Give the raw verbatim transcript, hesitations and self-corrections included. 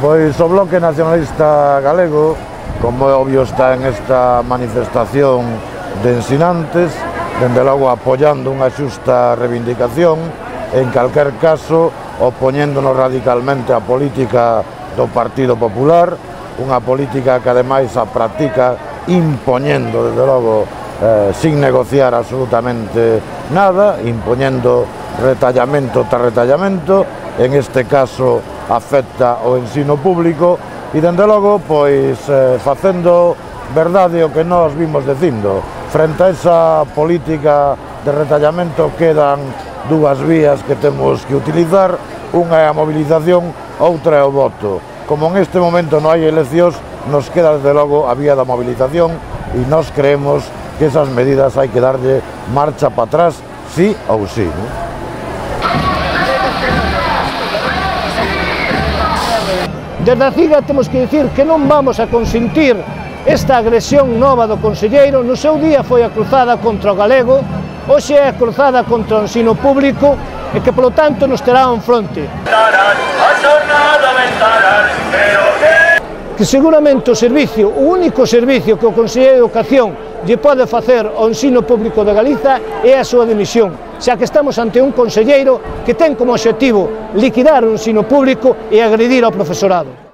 Pois o Bloque Nacionalista Galego, como é obvio, está en esta manifestación de ensinantes, dende logo apoiando unha xusta reivindicación, en calquer caso opoñéndonos radicalmente á política do Partido Popular, unha política que ademais a practica impoñendo, desde logo, eh, sin negociar absolutamente nada, impoñendo retallamento tras retallamento, en este caso afecta o ensino público, e dende logo, pois, eh, facendo verdade o que nós vimos dicindo. Frente a esa política de retallamento quedan dúas vías que temos que utilizar, unha é a movilización, outra é o voto. Como en este momento non hai eleccións, nos queda desde logo a vía da movilización e nós creemos que esas medidas hai que darlle marcha para atrás, sí ou sí, non? Desde a CIGA temos que dicir que non vamos a consentir esta agresión nova do conselleiro. No seu día foi a cruzada contra o galego, hoxe é a cruzada contra o ensino público e que, polo tanto, nos terá un fronte. Que seguramente o servicio, o único servicio que o Conselleiro de Educación lle pode facer ao ensino público de Galiza é a súa dimisión, xa que estamos ante un conselleiro que ten como obxectivo liquidar o ensino público e agredir ao profesorado.